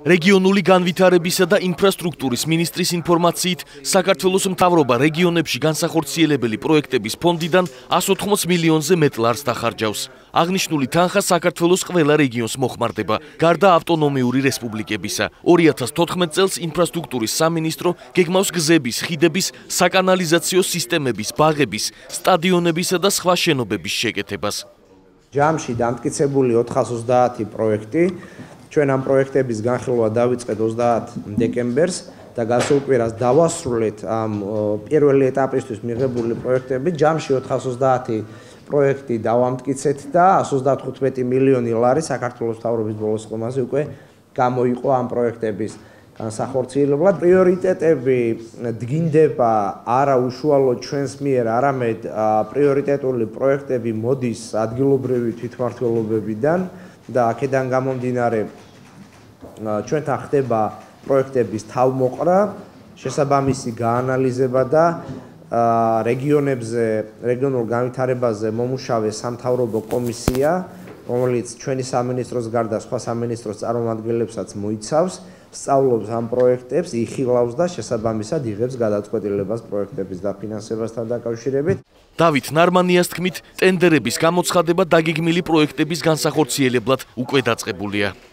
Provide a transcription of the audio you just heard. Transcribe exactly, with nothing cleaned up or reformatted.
რეგიონული განვითარებისა და ინფრასტრუქტურის მინისტრის ინფორმაციით, საქართველოს მთავრობა რეგიონებში განსახორციელებელი პროექტების ფონდიდან εκατს ოთხმოც მილიონზე მეტ ლარს დახარჯავს. აღნიშნული თანხა საქართველოს ყველა რეგიონს მოხმარდება, გარდა ავტონომიური რესპუბლიკებისა. ორი ათას თოთხმეტ წელს ინფრასტრუქტურის სამინისტრო გეგმავს გზების, ხიდების, საკანალიზაციო სისტემების, ბაღების, სტადიონებისა და სხვა შენობების შეკეთებას. ჯამში დამტკიცებული ოთხას ოცდაათი პროექტი. ჩვენ ამ პროექტების განხილვა დავიწყეთ ოცდაათი დეკემბერს და გასულ კვირას დავასრულეთ ამ პირველი ეტაპისთვის მიღებული პროექტები. ჯამში ოთხას ოცდაათი პროექტი დავამტკიცეთ და εκατს ოცდათხუთმეტი მილიონი ლარი საქართველოს მთავრობის ბოლოს ხომაზე უკვე გამოიყო ამ პროექტების განსახორციელებლად. პრიორიტეტები დგინდება არა უშუალოდ ჩვენს მიერ, არამედ პრიორიტეტული პროექტები მოდის ადგილობრივი თვითმმართველობებიდან და აქედან გამომდინარე ჩვენთან ხდება პროექტების თავმოყრა, შესაბამისი გაანალიზება და რეგიონებზე, რეგიონულ განვითარებაზე მომუშავე სამთავრობო კომისია, რომელიც ჩვენი სამინისტროს გარდა სხვა სამინისტროს წარმომადგენლებსაც მოიცავს, სწავლობს ამ პროექტებს, იხილავს და შესაბამისად იღებს გადაწყვეტილებას პროექტების დაფინანსებასთან დაკავშირებით. დავით ნარმანიას თქმით, ტენდერების გამოცხადება დაგეგმილი პროექტების განსახორციელებლად უკვე დაწყებულია.